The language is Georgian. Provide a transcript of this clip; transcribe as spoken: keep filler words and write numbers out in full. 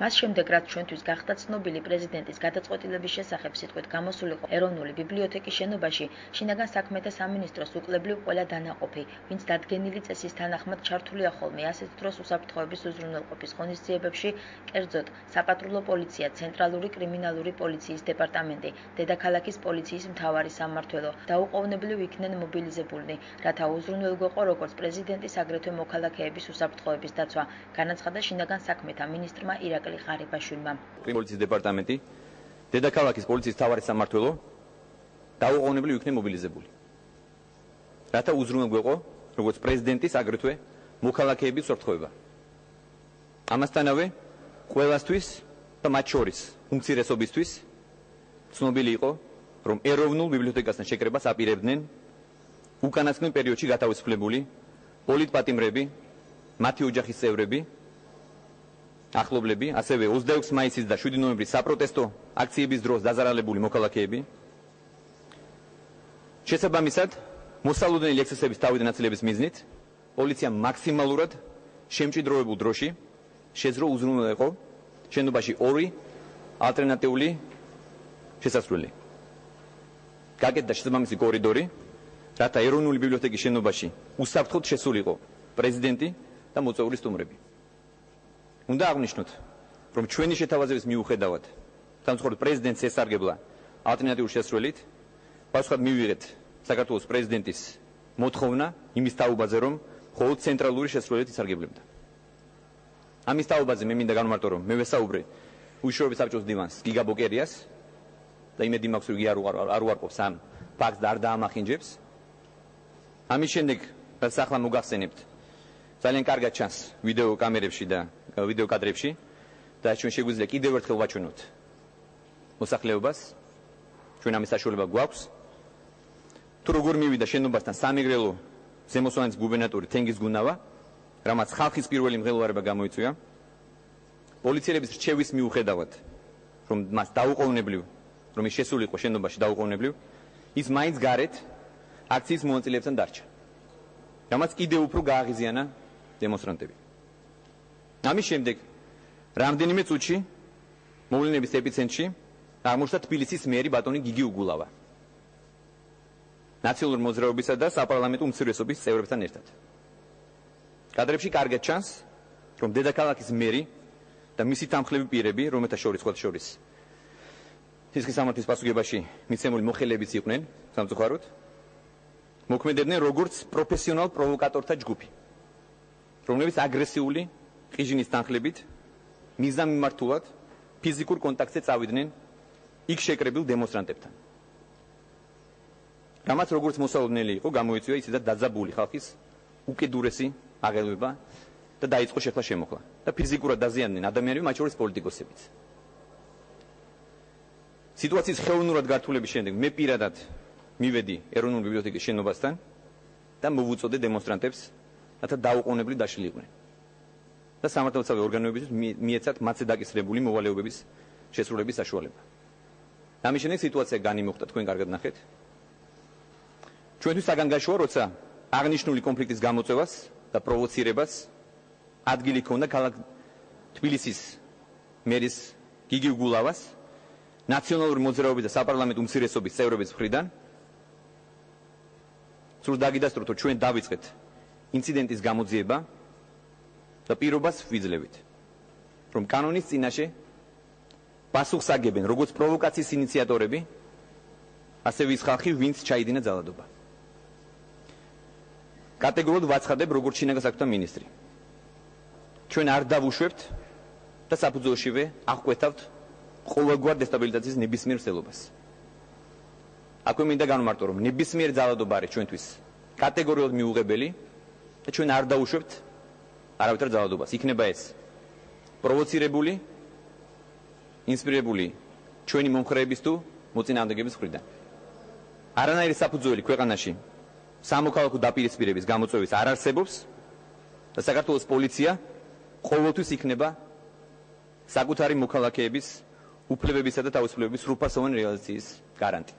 მას შემდეგ, რაც ჩვენთვის გახდა ცნობილი პრეზიდენტის გადაწყვეტილების შესახებ სიტყვით გამოსულიყო ეროვნული ბიბლიოთეკის შენობაში, შინაგან საქმეთა სამინისტროს უკლებლივ ყველა დანაყოფი, ვინც დადგენილი წესის თანახმად ჩართულია ხოლმე ასეთ დროს უსაფრთხოების უზრუნველყოფის ღონისძიებებში, კერძოდ საპატრულო პოლიცია, ცენტრალური კრიმინალური პოლიციის დეპარტამენტი, დედაქალაქის პოლიციის მთავარი სამმართველო დაუყოვნებლივ იქნენ მობილიზებულნი, რათა უზრუნველგვეყო როგორც პრეზიდენტის, აგრეთვე მოქალაქეების უსაფრთხოების დაცვა, განაცხადა შინაგან საქმეთა მინისტრმა ირაკლი ღარიბაშვილმა. პოლიციის დეპარტამენტი, დედაქალაქის პოლიციის მთავარი სამმართველო დაუყოვნებლივ იქნენ მობილიზებული, რათა უზრუნველგვეყო როგორც პრეზიდენტის, აგრეთვე მოქალაქეების უსაფრთხოება. ამასთანავე ყველასთვის და მათ შორის უმცირესობისთვის ცნობილი იყო, რომ ეროვნულ ბიბლიოთეკასთან შეკრებას აპირებდნენ უკანასკნელ პერიოდში გათავისუფლებული პოლიტპატიმრები, მათი ოჯახის წევრები, ახლობლები, ასევე ოცდაექვსი მაისის და შვიდი ნოემბრის საპროტესტო აქციების დროს დაზარალებული მოქალაქეები. შესაბამისად, მოსალოდნელი ექსცესების თავიდან აცილების მიზნით პოლიციამ მაქსიმალურად შემჭიდროებულ დროში შეძლო უზრუნველყო შენობაში ორი ალტერნატიული შესასვლელი. გაკეთდა შესაბამისი კორიდორი, რათა ეროვნული ბიბლიოთეკის შენობაში უსაფრთხოდ შესულიყო პრეზიდენტი და მოწვეული სტუმრები. უნდა აღვნიშნოთ, რომ ჩვენი შეთავაზების მიუხედავად, სამწუხაროდ პრეზიდენტს ესარგებლა ალტერნატიული შესასვლელით, პასუხად მივიღეთ საქართველოს პრეზიდენტის მოთხოვნა იმის თაობაზე, რომ მხოლოდ ცენტრალური შესასვლელით ისარგებლებდა. ამის თაობაზე მე მინდა განვმარტო, რომ მე ვესაუბრე უშუალოდ საბჭოს დივანს გიგა ბოკერიას და იმედი მაქვს, რომ იგი არ უარყოფს ამ ფაქტს და არ დაამახინჯებს. ამის შემდეგ, რაც ახლა მოგახსენებთ, ძალიან კარგად ჩანს ვიდეო კამერებში და ვიდეო კადრებში და ჩვენ შეგვიძლია კიდევ ერთხელ ვაჩვენოთ მოსახლეობას, ჩვენ ამის საშუალება გვაქვს. თუ როგორ მივიდა შენობასთან სამეგრელო ზემოსვანეთის გუბერნატორი თენგიზ გუნავა, რამაც ხალხის პირველი მღელვარება გამოიწვია, პოლიციელების რჩევის მიუხედავად, რომ მას დაუყოვნებლივ, რომ ის შესულიყო შენობაში დაუყოვნებლივ, ის მაინც გარეთ აქციის მონაწილეებთან დარჩა, რამაც კიდევ უფრო გააღიზიანა დემონსტრანტები. ამის შემდეგ, რამდენიმე წუთში მოვლენების ეპიცენტრში აღმოჩნდა თბილისის მერი ბატონი გიგი უგულავა, ნაციონალური მოძრაობისა და საპარლამენტო უმცირესობის წევრებთან ერთად. კადრებში კარგად ჩანს, რომ დედაქალაქის მერი და მისი თანხლები პირები, რომელთა შორის ხოთ შორის სისხლის სამართლის პასუხებაში მიცემული მოხელეებიც იყვნენ, სამწუხაროდ, მოქმედებდნენ როგორც პროფესიონალ პროვოკატორთა ჯგუფი, რომლებიც აგრესიული ყიჟინის თანხლებით მიზანმიმართულად ფიზიკურ კონტაქტზე წავიდნენ იქ შეკრებილ დემონსტრანტებთან. რამაც როგორც მოსალოდნელი იყო, გამოიწვია ისედაც დაძაბული ხალხის უკიდურესი აღელვება და დაიწყო შეხლა შემოხლა და ფიზიკურად დაზიანდნენ ადამიანები, მათ შორის პოლიტიკოსებიც. სიტუაციის ხელოვნურად გართულების შემდეგ მე პირადად მივედი ეროვნული ბიბლიოთეკის შენობასთან და მოვუწოდე დემონსტრანტებს, რათა დაუყოვნებლივ დაშლილიყვნენ და სამართალდამცავი ორგანოებისთვის მიეცათ მათზე დაკისრებული მოვალეობების შესრულების საშუალება. ამის შემდეგ სიტუაცია განიმოხდა, თქვენ კარგად ნახეთ. ჩვენთვის საგანგაშოა, როცა აღნიშნული კონფლიქტის გამოწვევას და პროვოცირებას ადგილი ჰქონდა ქალაქ თბილისის მერის გიგი უგულავას, ნაციონალური მოძრაობის და საპარლამენტო უმცირესობის წევრების მხრიდან. სულ დაგიდასტუროთ, რომ ჩვენ დავიწყეთ ინციდენტის გამოძიება და პირობას ვიძლევით, რომ კანონის წინაშე პასუხს აგებენ როგორც პროვოკაციის ინიციატორები, ასევე ის ხალხი, ვინც ჩაიდინა ძალადობა. კატეგორიულად ვაცხადებ, როგორც შინაგან საქმეთა მინისტრი. ჩვენ არ დავუშვებთ და საფუძველშივე აღკვეთავთ ყოველგვარ დესტაბილიზაციის ნებისმიერ მსვლელობას. აქვე მინდა განვმარტო, რომ ნებისმიერ ძალადობა არის ჩვენთვის კატეგორიულად მიუღებელი და ჩვენ არ დავუშვებთ არავითარ ძალადობას. იქნება ეს პროვოცირებული, ინსპირირებული ჩვენი მომხრეების თუ მოწინააღმდეგების მხრიდან. არანაირი საფუძველი ქვეყანაში სამოქალაქო დაპირისპირების გამოწვევის არ არსებობს და საქართველოს პოლიცია ყოველთვის იქნება საკუთარი მოქალაქეების უფლებებისა და თავისუფლებების სრულფასოვანი რეალიზაციის გარანტი.